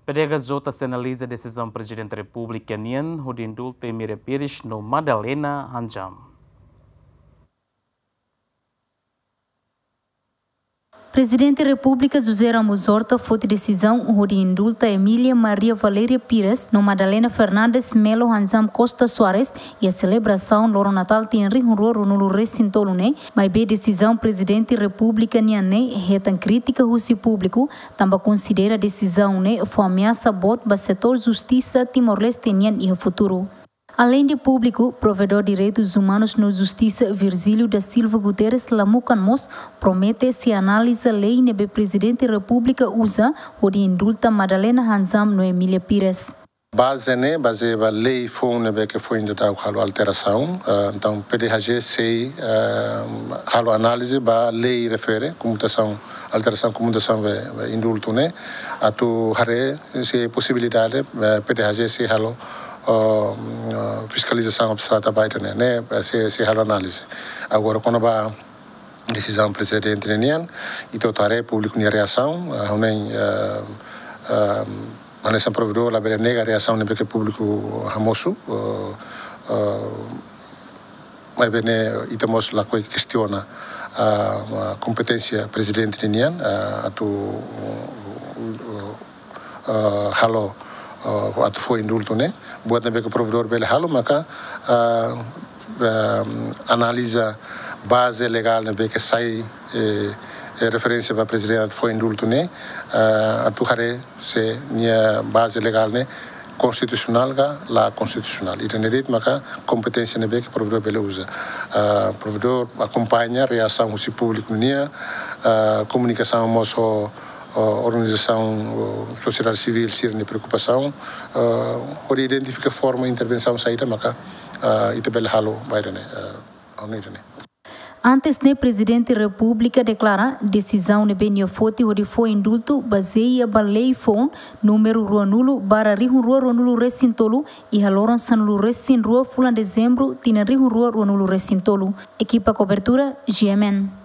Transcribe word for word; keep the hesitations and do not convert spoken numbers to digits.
P D H J sei analiza desizaun Prezidente Repúblika nian hodi indultu Emília Pires no Madalena Hanjam. Prezidente Repúblika José Ramos Horta foti desizaun hodi indulta Emília Maria Valéria Pires no Madalena Fernandes Melo Hanjam Costa Soares iha selebrasaun Loron Natál tinan rihun rua ruanulu resin tolu ne'e, maibé desizaun Prezidente Repúblika nian ne'e hetan krítika husi públiku, tanba konsidera desizaun ne'e fó ameasa boot ba setór justisa Timor-Leste nian iha futuru. Aleinde públiku, Provedór Direitus Umanus no Justisa Virgílio da Silva Guterres Lamukan mós promete sei analiza lei ne'ebé Prezidente Repúblika uza hodi indulta Madalena Hanjam no Emília Pires. Baze ne'e, baze ba lei foun ne'ebé ke foin daudaun halo alterasaun. Ah, entaun, P D H J sei, ah, halo análize ba lei refere, komutasaun, alterasaun, komutasaun be, be indultu ne'e, atu haree se posibilidade, eh, P D H J sei halo, ah, fiskalizasaun abstrata ba ida-ne'e, ne'e, eh, sei, sei halo análize. Agora, kona-ba desizaun Prezidente nian, ita atu haree públiku nia reasaun, ah, ha'u hanoin, ah, ah, hanesan provedór labele nega reasaun ne'ebé ke públiku hamosu, ah, ah, maibé ne'e ita mós lakohi kestiona, ah, kompeténsia Prezidente nian, ah, atu, ah, halo, ah, atu fó indultu ne'e. Buat ne'ebé ke provedór bele halo maka, ah, ah, analiza baze legál ne'ebé ke sai, eh, eh, referénsia ba Prezidente atu fó indultu ne'e, ah, atu haree se nia baze legál ne'e konstitusionál ka la konstitusionál. Ida-ne'e de'it maka kompeténsia ne'ebé ke provedór bele uza. Ah, provedór akompaña reasaun husi públiku nian, ah, komunikasaun mós ho, ho organizasaun, ho sosiedade sivíl sira-nia preokupasaun, ah, hodi identifika forma intervensaun saida maka, ah, ita bele halo ba ida-ne'e, ah, ha'u hanoin ida-ne'e. Antes ne'e, Prezidente Repúblika deklara desizaun ne'ebé nia foti hodi fó indultu bazeia ba lei foun númeru ruanulu barra rihun rua ruanulu resin tolu iha loron sanulu resin rua fulan Dezembru tinan rihun rua ruanulu resin tolu. Ekipa kobertura, G M N.